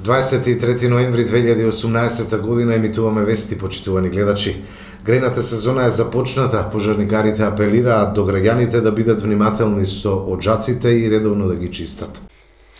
23 ноември 2018 година емитуваме вести, почитувани гледачи. Грејната сезона е започната, пожарникарите апелираат до граѓаните да бидат внимателни со оџаците и редовно да ги чистат.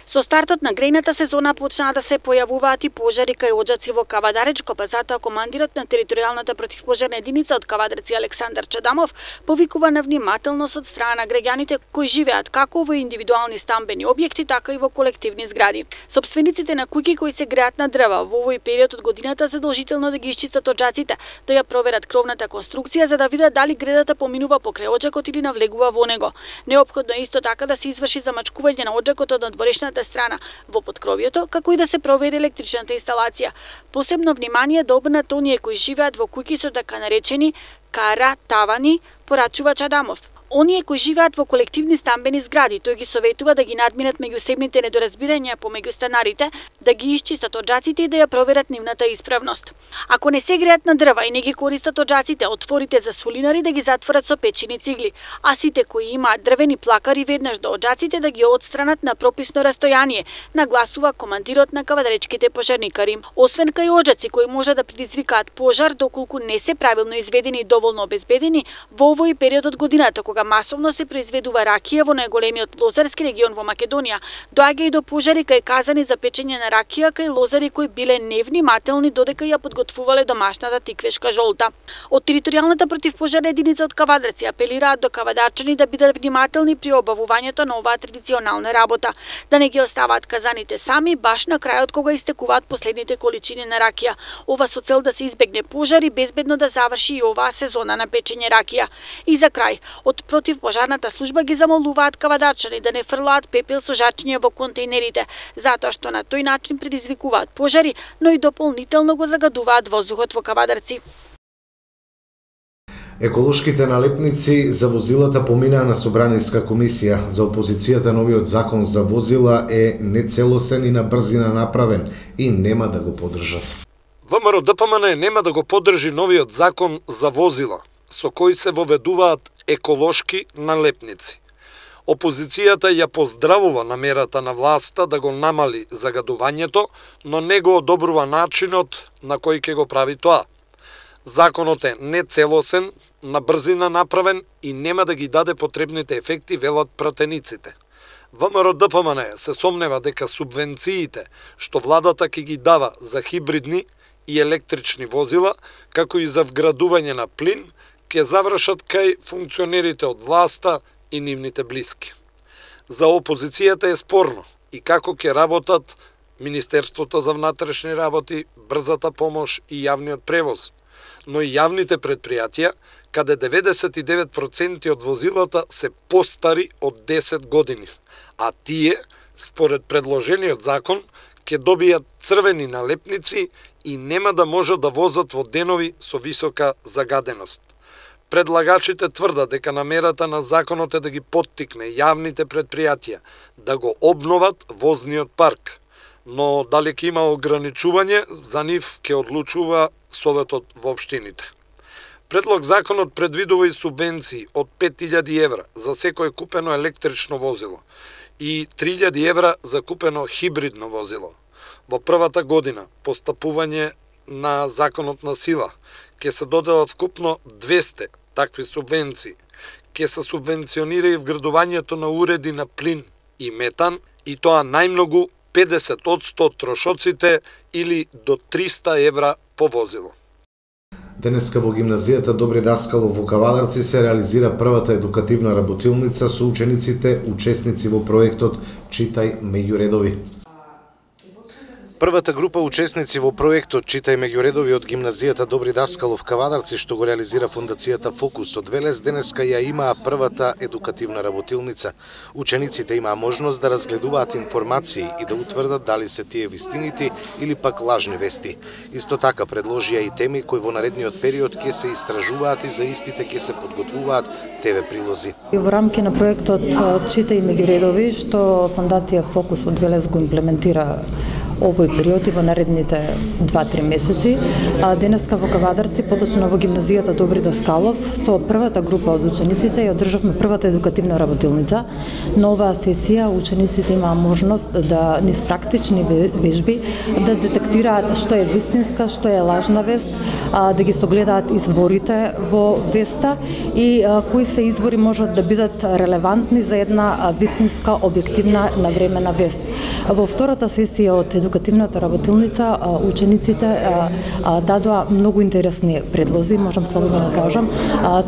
Со стартот на грејната сезона почнаа да се појавуваат и пожари кај оџаци во Кавадаречко, па затоа командирот на територијалната противпожарна единица од Кавадарци Александар Чадамов повикува на внимателност од страна на граѓаните кои живеат како во индивидуални стамбени објекти, така и во колективни згради. Сопствениците на куќи кои се греат на дрва во овој период од годината задолжително да ги исчистат оџаците, да ја проверат кровната конструкција за да видат дали гредата поминува покрај оџакот или навлегува во него. Неопходно е исто така да се изврши замачкување на оџакот од надворешната страна во поткровието, како и да се провери електричната инсталација. Посебно внимание да обрнат оние кои живеат во куќи со така наречени кара-тавани, порачува Чадамов. Оние кои живеат во колективни стамбени згради, тој ги советува да ги надминат меѓусебните недоразбирања помеѓу станарите, да ги исчистат оџаците и да ја проверат нивната исправност. Ако не се греат на дрва и не ги користат оџаците, отворите за сулинари да ги затворат со печени цигли, а сите кои имаат дрвени плакари веднаш до оџаците да ги отстранат на прописно растојание, нагласува командирот на кавадаречките пожарникари. Освен кај оџаци кои може да предизвикаат пожар доколку не се правилно изведени и доволно обезбедени, во овој период од годината кога масовно се произведува ракија во најголемиот лозарски регион во Македонија, доаѓа и до пожари кај казани за печење на ракија кај лозари кои биле невнимателни додека ја подготвувале домашната тиквешка жолта. Од територијалната противпожарна единица од Кавадарци апелираат до кавадарчани да бидат внимателни при обавувањето на оваа традиционална работа, да не ги оставаат казаните сами баш на крајот кога истекуваат последните количини на ракија. Ова со цел да се избегне пожар и безбедно да заврши и оваа сезона на печење ракија. И за крај, од противпожарната служба ги замолуваат кавадарчани да не фрлаат пепел со жачиња во контејнерите, затоа што на тој начин предизвикуваат пожари, но и дополнително го загадуваат воздухот во Кавадарци. Еколошките налепници за возилата поминаа на Собраниска комисија. За опозицијата новиот закон за возила е нецелосен и на брзина направен и нема да го поддржат. ВМРО-ДПМН нема да го поддржи новиот закон за возила, со кој се воведуваат еколошки налепници. Опозицијата ја поздравува намерата на власта да го намали загадувањето, но не го одобрува начинот на кој ќе го прави тоа. Законот е нецелосен, на брзина направен и нема да ги даде потребните ефекти, велат пратениците. ВМРО-ДПМН се сомнева дека субвенциите што владата ќе ги дава за хибридни и електрични возила, како и за вградување на плин, ќе завршат кај функционерите од власта и нивните блиски. За опозицијата е спорно и како ќе работат Министерството за внатрешни работи, брзата помош и јавниот превоз, но и јавните предпријатија, каде 99% од возилата се постари од 10 години, а тие, според предложениот закон, ќе добијат црвени налепници и нема да можат да возат во денови со висока загаденост. Предлагачите тврдат дека намерата на законот е да ги поттикне јавните предпријатија да го обноват возниот парк, но дали ќе има ограничување, за нив ќе одлучува Советот во општините. Предлог законот предвидува и субвенции од 5000 евра за секое купено електрично возило и 3000 евра за купено хибридно возило. Во првата година постапување на законот на сила ќе се доделат вкупно 200 такви субвенции. Ќе се субвенционира и вградувањето на уреди на плин и метан, и тоа најмногу 50% од трошоците или до 300 евра по возило. Денеска во гимназијата Добри Даскалов во Кавадарци се реализира првата едукативна работилница со учениците, учесници во проектот Читај меѓу редови. Првата група учесници во проектот Читај меѓу редови од гимназијата Добри Даскалов Кавадарци, што го реализира фондацијата Фокус од Велес, денеска ја имаа првата едукативна работилница. Учениците имаа можност да разгледуваат информации и да утврдат дали се тие вистините или пак лажни вести. Исто така предложија и теми кои во наредниот период ќе се истражуваат и за истите ќе се подготвуваат ТВ прилози. Во рамки на проектот Читај меѓу редови, што фондација Фокус од Велес го имплементира овој период и во наредните 2-3 месеци. Денеска во Кавадарци, поточно во гимназијата Добри Даскалов, со првата група од учениците ја одржавме првата едукативна работилница. На оваа сесија учениците имаа можност да низ практични вежби да детектираат што е вистинска, што е лажна вест, да ги согледаат изворите во веста и кои се извори можат да бидат релевантни за една вистинска, објективна, навремена вест. Во втората сесија од едукативната работилница учениците дадоа многу интересни предлози, можам слободно да кажам.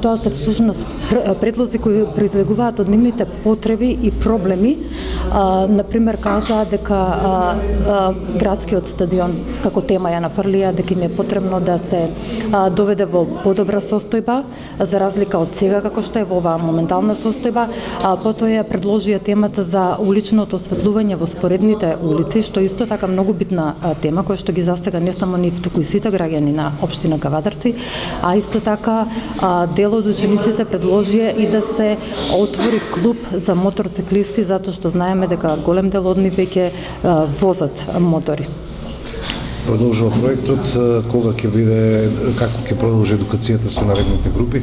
Тоа се всушност предлози кои произлегуваат од нивните потреби и проблеми. Например, кажаа дека градскиот стадион како тема ја нафрлија, дека им е потребно да се доведе во подобра состојба, за разлика од сега како што е во оваа моментална состојба. Потоа ја предложија темата за уличното осветлување во споредните улици, што исто така многу битна тема, која што ги засега не само нив, туку и сите граѓани на општина Кавадарци, а исто така дел од учениците предложија и да се отвори клуб за моторциклисти, затоа што знаеме дека голем дел од нив веќе возат мотори. Продолжува проектот, кога ќе биде, како ќе продолжи едукацијата со наредните групи?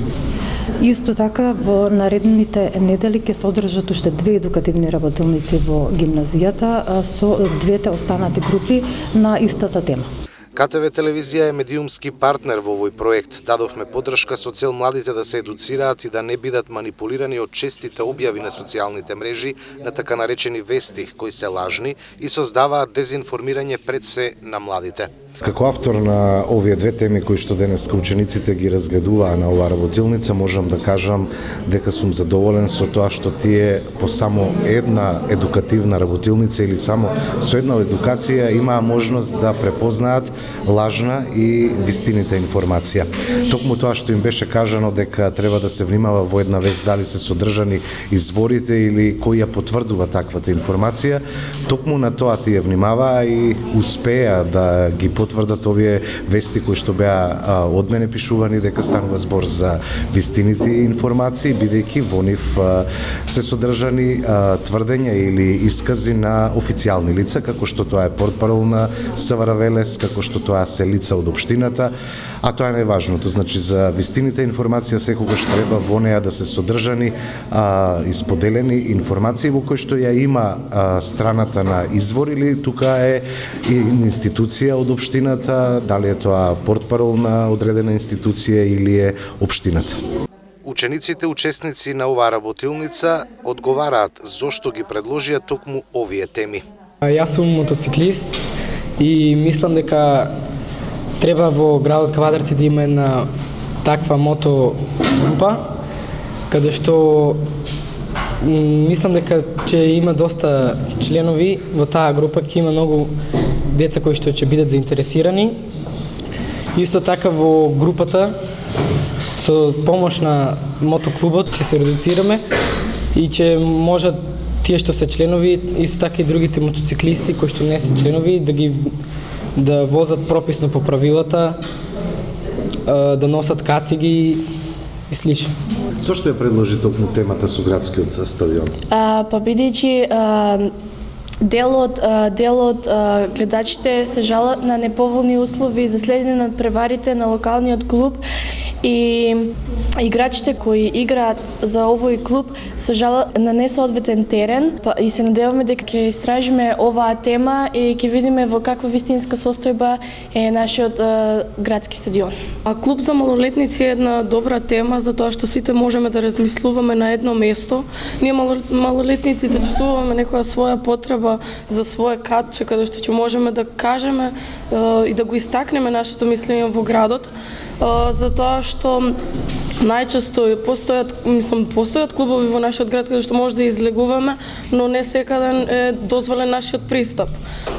Исто така, во наредните недели ќе се одржат уште 2 едукативни работилници во гимназијата со двете останати групи на истата тема. КТВ телевизија е медиумски партнер во овој проект. Дадовме поддршка со цел младите да се едуцираат и да не бидат манипулирани од честите објави на социјалните мрежи на така наречени вести, кои се лажни и создаваат дезинформирање пред се на младите. Како автор на овие две теми кои што денеска учениците ги разгледуваа на оваа работилница, можам да кажам дека сум задоволен со тоа што тие по само една едукативна работилница или само со една едукација имаа можност да препознаат лажна и вистините информација. Токму тоа што им беше кажано дека треба да се внимава во една вест дали се содржани изворите или кој ја потврдува таквата информација, токму на тоа тие внимаваа и успеа да ги потврдат овие вести кои што беа од мене пишувани дека станува збор за вистините информации, бидејќи во нив се содржани тврдења или искази на официјални лица, како што тоа е портпарол на СВР Велес, како што тоа се лица од општината, а тоа е најважното. Значи, за вистините информација секогаш треба во неа да се содржани и споделени информации во кои што ја има страната на извор или тука е и институција од општината, дали е тоа портпарол на одредена институција или е општината. Учениците учесници на оваа работилница одговараат зошто ги предложија токму овие теми. Јас сум мотоциклист и мислам дека треба во градот Кавадарци да има една таква мотогрупа, каде што мислам дека ќе има доста членови во таа група, ќе има многу деца кои што ќе бидат заинтересирани. Исто така во групата со помош на мотоклубот ќе се редуцираме и ќе можат тие што се членови, исто така и другите мотоциклисти кои што не се членови, да возат прописно по правилата, да носат кациги и слично. Зошто ја предложи токму темата со градскиот стадион? Па бидејќи дел од гледачите се жалат на неповолни услови за следење на преварите на локалниот клуб и играчите кои играат за овој клуб се жалат на несоодветен терен и се надеваме дека ќе истражиме оваа тема и ќе видиме во каква вистинска состојба е нашиот градски стадион. Клуб за малолетници е една добра тема затоа што сите можеме да размислуваме на едно место. Ние малолетниците чувствуваме некоја своја потреба за свое катче каде што ќе можеме да кажеме и да го истакнеме нашето мислење во градот, затоа што најчесто постојат клубови во нашиот град каде што може да излегуваме, но не секаде е дозволен нашиот пристап.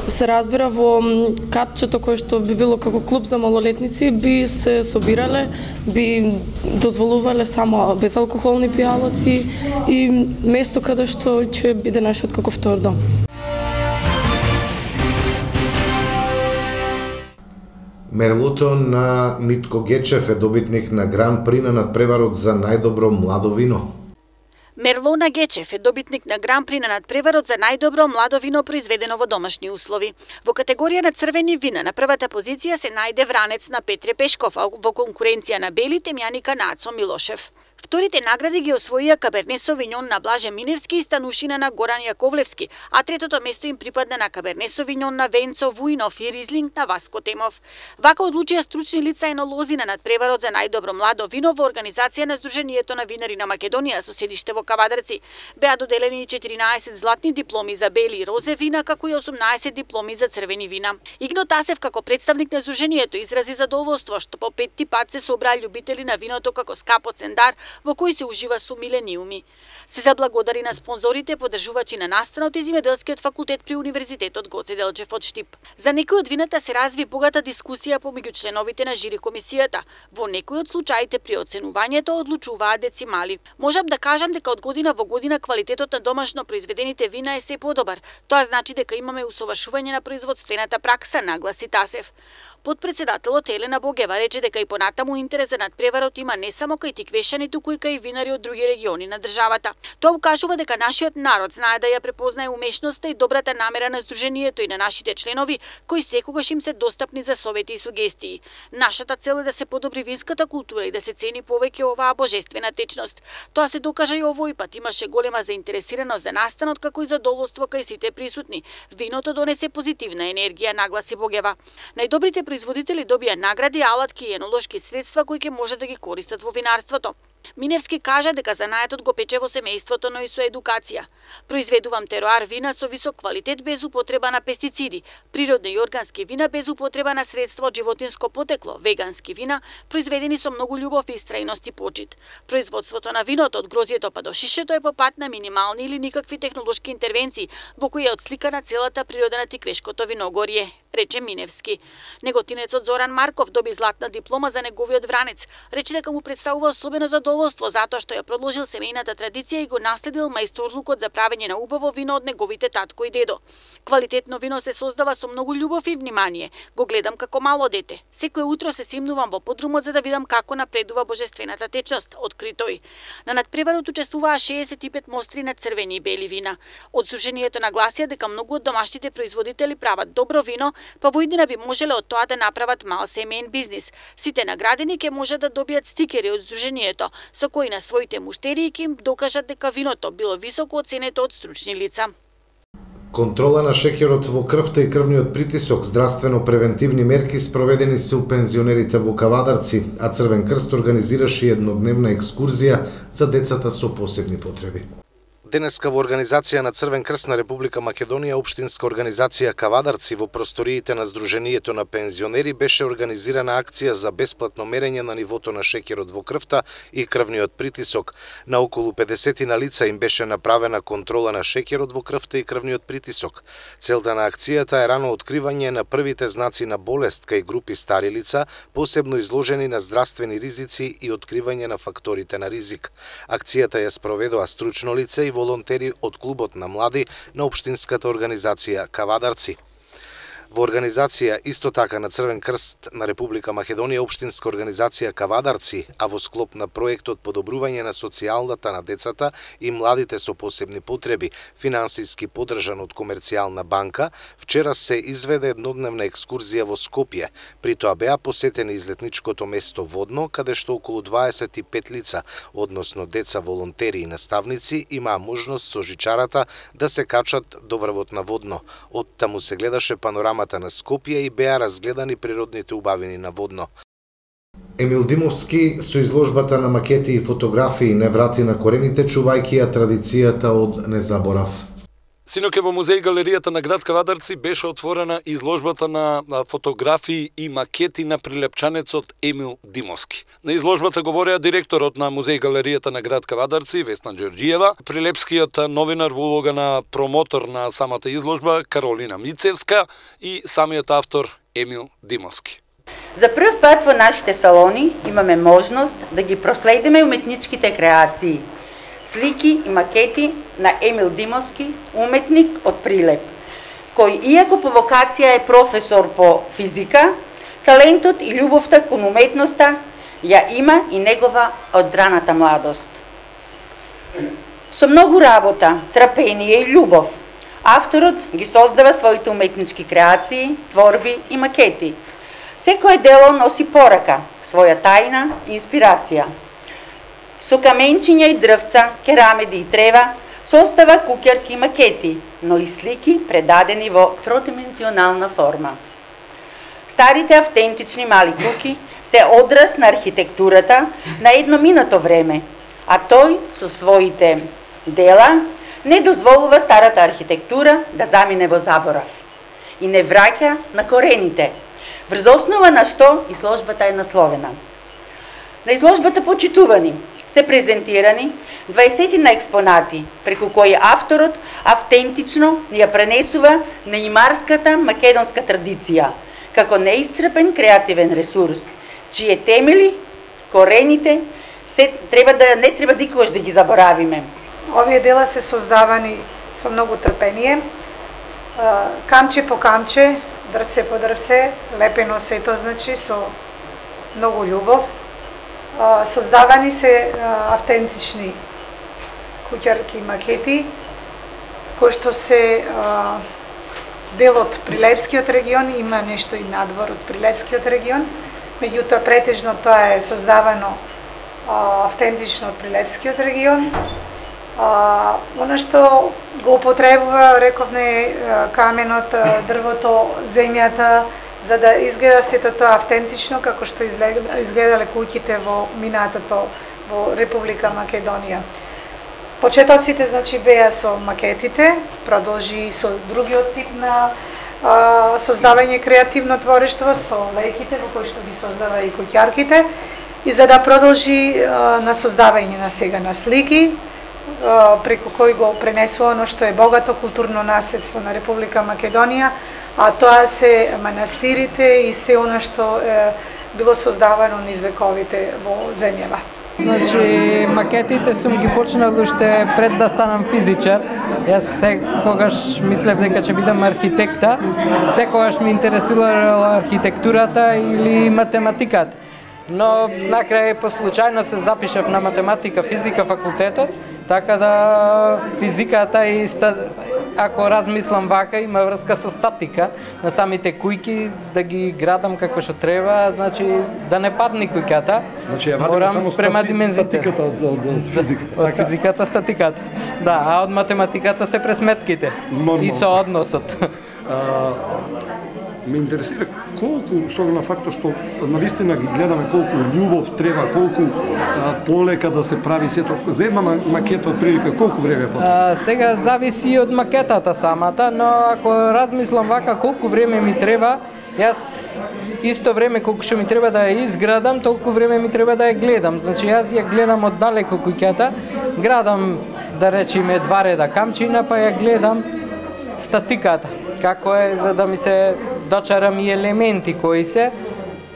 Се разбира, во катчето кое што би било како клуб за малолетници би се собирале, би дозволувале само безалкохолни пијалоци и место каде што ќе биде нашиот како втор дом. Мерлото на Митко Гечев е добитник на Гран При на надпреварот за најдобро младо вино. Мерлона Гечев е добитник на Гран-при на надпреварот за најдобро младо вино произведено во домашни услови. Во категорија на црвени вина на првата позиција се најде Вранец на Петре Пешков, а во конкуренција на бели темјаника на Ацо Милошев. Вторите награди ги освоија Каберне Совиньон на Блаже Миневски и Станушина на Горан Јаковлевски, а третото место им припадна на Каберне Совиньон на Венцо Вујнов и Ризлинг на Васко Темов. Вака одлучија стручни лица енолози на надпреварот за најдобро младо вино во организација на Сдруженијето на винари на Македонија со седиште во Кавадарци. Беа доделени 14 златни дипломи за бели и розе вина, како и 18 дипломи за црвени вина. Игно Тасев како представник на Сдруженијето изрази задоволство што по петти пат се собраа љубители на виното како скапо цендар во кој се ужива со милениуми. Се заблагодари на спонзорите, поддржувачи на настанот и земјоделскиот факултет при Универзитетот Гоце Делчев од Штип. За некои од вината се разви богата дискусија помеѓу членовите на жири комисијата. Во некои од случаите при оценувањето одлучуваат децимали. Можам да кажам дека од година во година квалитетот на домашно произведените вина е се подобар. Тоа значи дека имаме усовршување на производствената пракса, нагласи Тасев. Подпредседателот Елена Богева рече дека и понатаму интерес за надпреварот има не само кај тиквешани, туку и кај винари од други региони на државата. Тоа укажува дека нашиот народ знае да ја препознае умешноста и добрата намера на Сдруженијето и на нашите членови, кои секогаш им се достапни за совети и сугестии. Нашата цел е да се подобри винската култура и да се цени повеќе оваа божествена течност. Тоа се докажа и овој пат, имаше голема заинтересираност за настанот, како и задоволство кај сите присутни. Виното донесе позитивна енергија, нагласи Богева. Најдобрите производители добија награди, алатки и енолошки средства кои ќе може да ги користат во винарството. Миневски кажа дека занаетот го пече во семејството, но и со едукација. Произведувам тероар вина со висок квалитет без употреба на пестициди, природни и органски вина без употреба на средства од животинско потекло, вегански вина, произведени со многу љубов и истрајност и почит. Производството на виното од грозјето па до шишето е по пат на минимални или никакви технолошки интервенции, во кои е отсликана целата природа на тиквешкото виногорје, рече Миневски. Неготинецот Зоран Марков доби златна диплома за неговиот Вранец. Рече дека му представува особено задоволство затоа што ја продолжил семејната традиција и го наследил мајсторлукот за правење на убаво вино од неговите татко и дедо. Квалитетно вино се создава со многу љубов и внимание. Го гледам како мало дете. Секое утро се симнувам во подрумот за да видам како напредува божествената течност, откри тој. На надпреварот учествуваа 65 мостри на црвени и бели вина. Од Сдруженијето нагласија дека многу од домашните производители прават добро вино, па во иднина би можеле од тоа да направат мал семеен бизнис. Сите наградени ќе можат да добијат стикери од Сдруженијето, со кои на своите муштерии ќе им докажат дека виното било високо оценето од стручни лица. Контрола на шеќерот во крвта и крвниот притисок, здравствено-превентивни мерки спроведени се у пензионерите во Кавадарци, а Црвен крст организираше еднодневна екскурзија за децата со посебни потреби. Денеска во организација на Црвен крст на Република Македонија, општинска организација Кавадарци во просториите на Сдруженијето на пензионери беше организирана акција за бесплатно мерење на нивото на шеќерот во крвта и крвниот притисок. На околу 50 на лица им беше направена контрола на шеќерот во крвта и крвниот притисок. Целта на акцијата е рано откривање на првите знаци на болест кај групи стари лица, посебно изложени на здравствени ризици и откривање на факторите на ризик. Акцијата ја спроведоа стручно лице и волонтери од клубот на млади на општинската организација Кавадарци. Во организација исто така на Црвен крст на Република Македонија, општинска организација Кавадарци, а во склоп на проектот подобрување на социјалната на децата и младите со посебни потреби, финансиски поддржан од Комерцијална банка, вчера се изведе еднодневна екскурзија во Скопје. При тоа беа посетени излетничкото место Водно, каде што околу 25 лица, односно деца, волонтери и наставници, имаа можност со жичарата да се качат до врвот на Водно. Од таму се гледаше панорамата на Скопје и беа разгледани природните убавини на Водно. Емил Димовски со изложбата на макети и фотографии не врати на корените, чувајќи ја традицијата од незаборав. Синоќа во музеј галеријата на град Кавадарци беше отворена изложбата на фотографии и макети на прилепчанецот Емил Димовски. На изложбата говореа директорот на музеј галеријата на град Кавадарци Весна Ѓорѓиева, прилепскиот новинар во улога на промотор на самата изложба Каролина Мицевска и самиот автор Емил Димовски. За прв пат во нашите салони имаме можност да ги проследиме уметничките креации, слики и макети на Емил Димовски, уметник од Прилеп, кој иако по вокација е професор по физика, талентот и љубовта кон уметноста ја има и негова од раната младост. Со многу работа, трпение и љубов, авторот ги создава своите уметнички креации, творби и макети. Секое дело носи порака, своја тајна и инспирација. Со каменчиња и дрвца, керамиди и трева, состава куќарки и макети, но и слики предадени во тродимензионална форма. Старите автентични мали куќи се одраз на архитектурата на едно минато време, а тој со своите дела не дозволува старата архитектура да замине во заборав и не враќа на корените, врз основа на што изложбата е насловена. На изложбата почитувани се презентирани 20 на експонати, преку кои авторот автентично ја пренесува неимарската македонска традиција, како неисцрпен креативен ресурс, чие темели, корените, не треба никогаш да ги заборавиме. Овие дела се создавани со многу трпение, камче по камче, дрвце по дрвце, лепено сето, значи, со многу љубов. Создавани се автентични куќарки и макети, кои што се дел од Прилепскиот регион, има нешто и надвор од Прилепскиот регион, меѓутоа претежно тоа е создавано автентично од Прилепскиот регион. Она што го употребува, рековме, каменот, дрвото, земјата, за да изгледа сето тоа автентично како што изгледале куќите во минатото во Република Македонија. Почетоците, значи, беа со макетите, продолжи со другиот тип на создавање креативно творештво, со лејките во кои што ги создава и куќарките, и за да продолжи на создавање на сега на слики, преку кој го пренесува оно што е богато културно наследство на Република Македонија, а тоа се манастирите и се оно што било создавано низ вековите во земјава. Значи, макетите сум ги почнал уште пред да станам физичар. Јас секогаш мислев дека ќе бидам архитекта, секогаш ми интересирала архитектурата или математиката. Но накрај по случајно се запишав на математика, физика факултетот, така да физиката и ако размислам вака, има врска со статика на самите кујки, да ги градам како што треба, значи да не падне куќата. Значи ја морам спрема димензите. Статиката од физиката. Од физиката статиката. Да, а од математиката се пресметките и со односот. Ме интересира колку, со на фактот што навистина ги гледаме колку љубов треба, колку полека да се прави сето. За една макета од прилика колку време потреба? Сега зависи од макетата самата, но ако размислам вака колку време ми треба, јас исто време колку што ми треба да ја изградам, толку време ми треба да ја гледам. Значи јас ја гледам од далеко куќата, градам, да речеме, 2 реда камчина, па ја гледам статиката, како е, за да ми се дочарам и елементи кои се,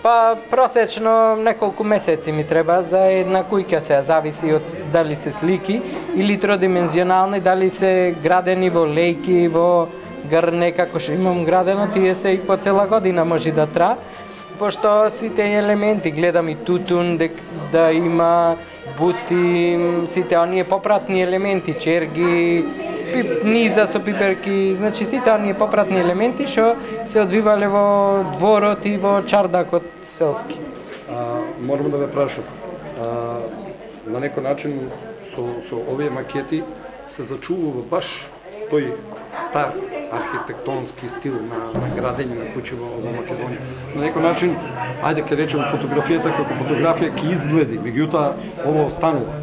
па просечно неколку месеци ми треба за една куќа, се зависи од дали се слики или тродимензионални, дали се градени во лејки, во грне, како што имам градено, тие се и по цела година може да тра, пошто сите елементи гледам и тутун, да има бути, сите оние попратни елементи, черги, низа со пиперки, значи сите оние попратни елементи што се одвивале во дворот и во чардакот селски. Морам да ве прашам, на некој начин со овие макети се зачувува баш тој стар архитектонски стил на градење на куќи во Македонија. На некој начин, ајде ке речем, фотографијата како фотографија ќе изгледи, меѓутоа ова останува.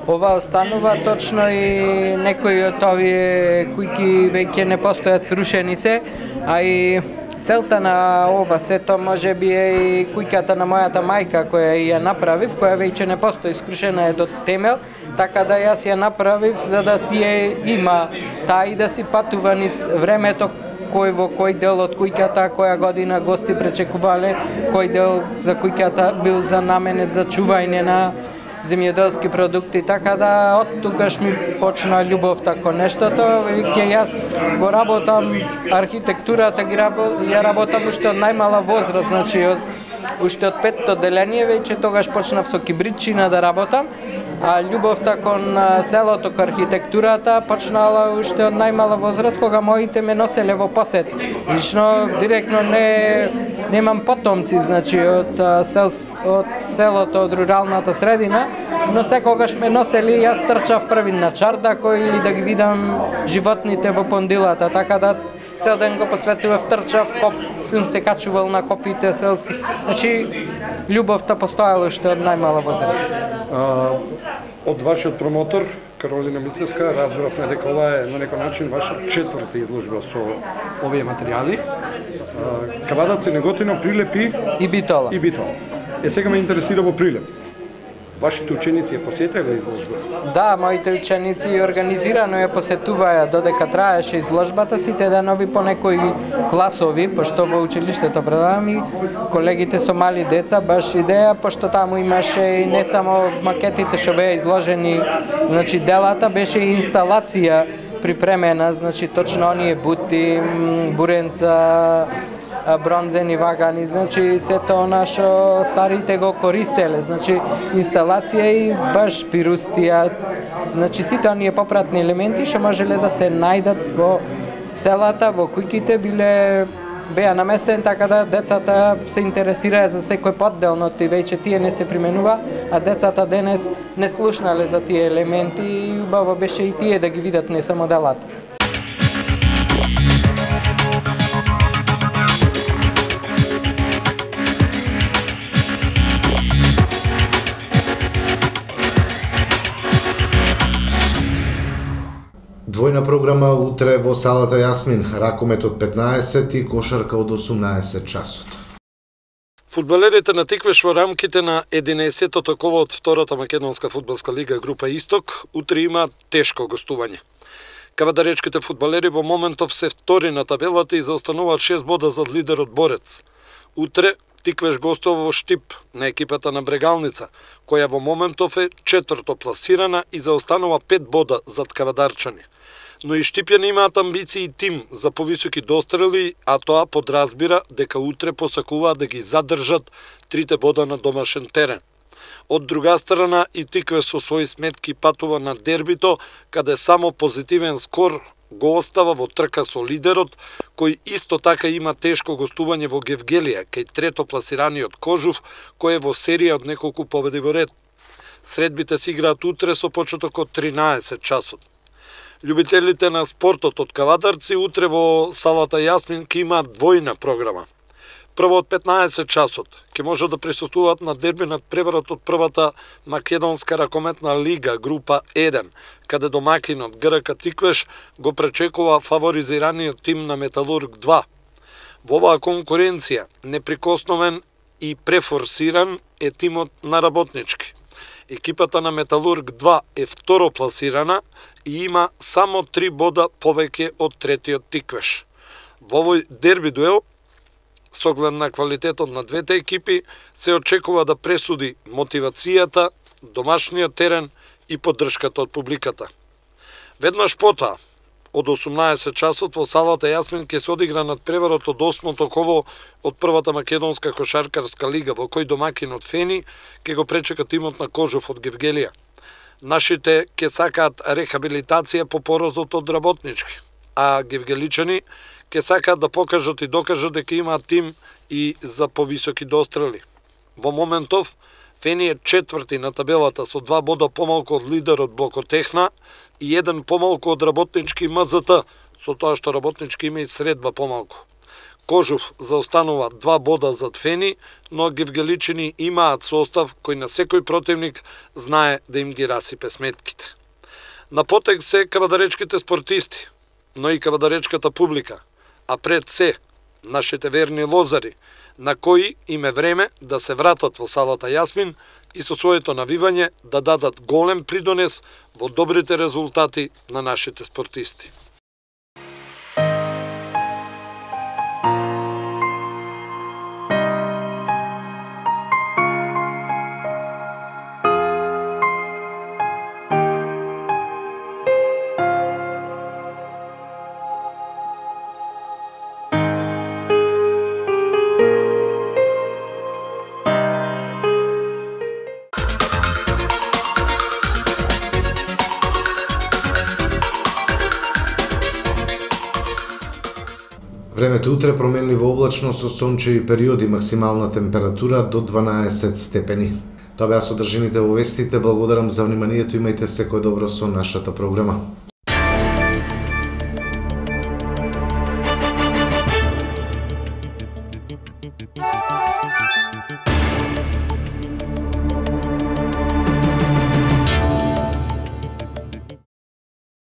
Ова останува, точно и некои од овие кујки веќе не постојат, срушени се, а и целта на ова сето може би е и куќата на мојата мајка која ја направив, која веќе не постои, скрушена е до темел, така да јас ја направив за да си ја има таа и да си патува низ времето кој во кој дел од куќата, која година гости пречекувале, кој дел за куќата бил занаменет за чување на земјоделски продукти, така да од тогаш ми почна љубовта кон нештото, веќе јас го работам архитектурата, ја работам уште од најмала возраст, значи од уште од 5-то деление веќе тогаш почнав со кибритчина да работам, а љубовта кон селото, кон архитектурата почнала уште од најмала возраст, кога моите ме носеле во посет. Лично директно немам потомци, значи од селото, од руралната средина, но секогаш ме носели, јас трчав први на чардако или да ги видам животните во пондилата, така да цел ден го посветував, трчав, сум се качувал на копите селски. Значи, љубовта постоела уште од најмала возраст. Од вашиот промотор, Каролина Мицевска, разбравме дека ова е на некој начин ваша 4-та изложба со овие материјали. Кавадарци, Неготино, Прилеп и Битола. Сега ме интересира во Прилеп. Вашите ученици ја посетиле изложбата? Да, моите ученици организирано ја посетуваја додека траеше изложбата, сите денови по некои класови, пошто во училиштето предавам и колегите со мали деца, баш идеја, пошто таму имаше и не само макетите што беа изложени, значи делата, беше и инсталација припремена, значи точно оние бути, буренца, бронзени вагани, значи сето она што старите го користеле, значи инсталација и баш пирустија, значи сите оние попратни елементи што можеле да се најдат во селата, во куќите беа наместени, така да децата се интересираа за секој подделно, и веќе тие не се применува, а децата денес не слушнале за тие елементи и убаво беше и тие да ги видат, не само делата. Двојна програма утре во салата Јасмин, ракомет од 15 и кошарка од 18 часот. Фудбалерите на Тиквеш во рамките на 11-тото коло од втората македонска фудбалска лига група Исток утре имаат тешко гостување. Кавадаречките фудбалери во моментов се втори на табелата и заостануваат 6 бода зад лидерот Борец. Утре Тиквеш гостува во Штип на екипата на Брегалница, која во моментов е 4-то пласирана и заостанува 5 бода зад Кавадарчани. Но и Штипјани имаат амбиции и тим за повисоки дострели, а тоа подразбира дека утре посакуваат да ги задржат 3 бода на домашен терен. Од друга страна и Тиквеш со своји сметки патува на дербито, каде само позитивен скор го остава во трка со лидерот, кој исто така има тешко гостување во Гевгелија, кај трето пласираниот Кожув, кој е во серија од неколку победи во ред. Средбите се играат утре со почеток од 13 часот. Љубителите на спортот од Кавадарци утре во салата Јасмин ќе имаат двојна програма. Прво од 15 часот ќе може да присуствуваат на дерби над преварот од првата македонска ракометна лига група 1, каде домакинот ГРК Тиквеш го пречекува фаворизираниот тим на Металург 2. Во оваа конкуренција неприкосновен и префорсиран е тимот на Работнички. Екипата на Металург 2 е второ пласирана и има само 3 бода повеќе од третиот Тиквеш. Во овој дерби дуел, с оглед на квалитетот на двете екипи, се очекува да пресуди мотивацијата, домашниот терен и поддршката од публиката. Веднаш потоа, од 18 часот во салата Јасмин ќе се одигра над преварот од 8-то коло од првата македонска кошаркарска лига, во кој домакинот Фени ќе го пречека тимот на Кожув од Гевгелија. Нашите ќе сакаат рехабилитација по поразот од Работнички, а гевгеличани ќе сакаат да покажат и докажат дека имаат тим и за повисоки дострели. Во моментов, Фени е 4-ти на табелата со 2 бода помалку од лидерот Блокотехна и 1 помалку од Работнички МЗТ, со тоа што Работнички има и средба помалку. Кожув заостанува 2 бода зад Фени, но гевгеличани имаат состав кој на секој противник знае да им ги расипе сметките. На потек се кавадаречките спортисти, но и кавадаречката публика, а пред се нашите верни лозари, на кои им е време да се вратат во салата Јасмин и со своето навивање да дадат голем придонес во добрите резултати на нашите спортисти. Времето утре променливо облачно со сончеви периоди, максимална температура до 12 степени. Тоа беа содржините во вестите. Благодарам за вниманието, имајте секое добро со нашата програма.